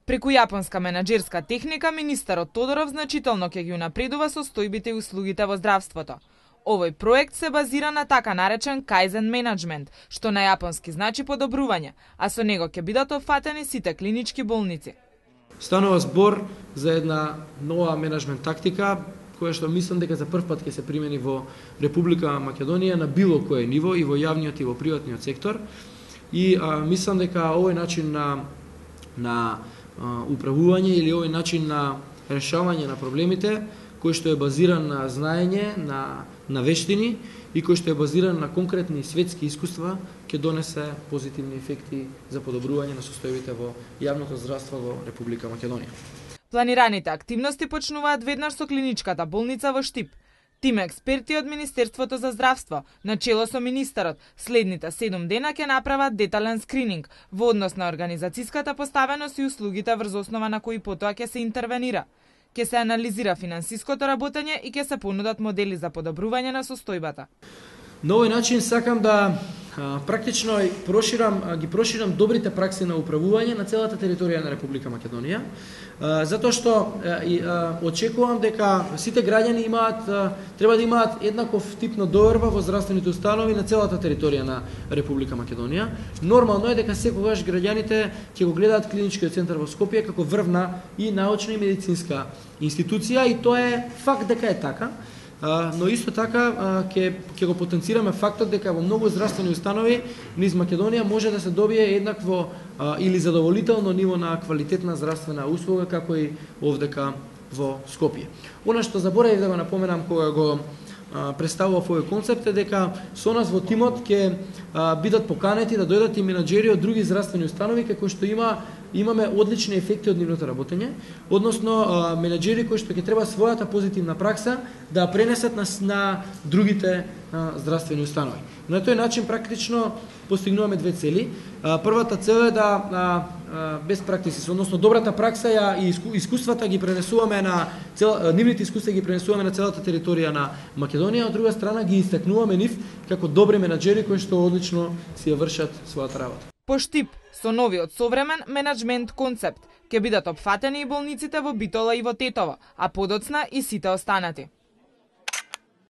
Преку јапонска менаџерска техника, министерот Тодоров значително ќе ги унапредува состојбите и услугите во здравството. Овој проект се базира на така наречен кајзен менеджмент, што на јапонски значи подобрување, а со него ќе бидат опфатени сите клинички болници. Станува збор за една нова менеджмент тактика, која што мислам дека за прв пат ќе се примени во Република Македонија на било кое ниво, и во јавниот и во приватниот сектор. И мислам дека овој начин на управување или овој начин на решавање на проблемите, кој што е базиран на знаење, на вештини и кој што е базиран на конкретни светски искуства, ќе донесе позитивни ефекти за подобрување на состојбите во јавното здравство во Република Македонија. Планираните активности почнуваат веднаш со клиничката болница во Штип. Тим експерти од Министерството за здравство, начело со министерот, следните 7 дена ќе направат детален скрининг во однос на организацијската поставеност и услугите врз основа на кои потоа ќе се интервенира. Ќе се анализира финансиското работење и ќе се понудат модели за подобрување на состојбата. На овој начин сакам да практично ги проширам добрите пракси на управување на целата територија на Република Македонија, затоа што очекувам дека сите граѓани треба да имаат еднаков тип на доверба во здравствените установи на целата територија на Република Македонија. Нормално е дека секогаш граѓаните ќе го гледаат клиничкиот центар во Скопје како врвна и научна и медицинска институција, и тоа е факт дека е така. Но исто така ќе го потенцираме фактот дека во многу здравствени установи низ Македонија може да се добие еднакво или задоволително ниво на квалитетна здравствена услуга како и овдека во Скопје. Она што заборавив да го напоменам кога го представував овој концепт е дека со нас во тимот ќе бидат поканети да дојдат и менаџери од други здравствени установи како што имаме одлични ефекти од нивното работење, односно менаџери кои што ќе треба својата позитивна пракса да пренесат на другите здравствени установи. На тој начин практично постигнуваме две цели. Првата цел е да без практици, односно добрата пракса и искуствата ги пренесуваме нивните искуства ги пренесуваме на целата територија на Македонија, од друга страна ги истакнуваме нив како добри менаџери кои што одлично си ја вршат својата работа. По Штип, со новиот современ менеджмент концепт, ќе бидат опфатени и болниците во Битола и во Тетово, а подоцна и сите останати.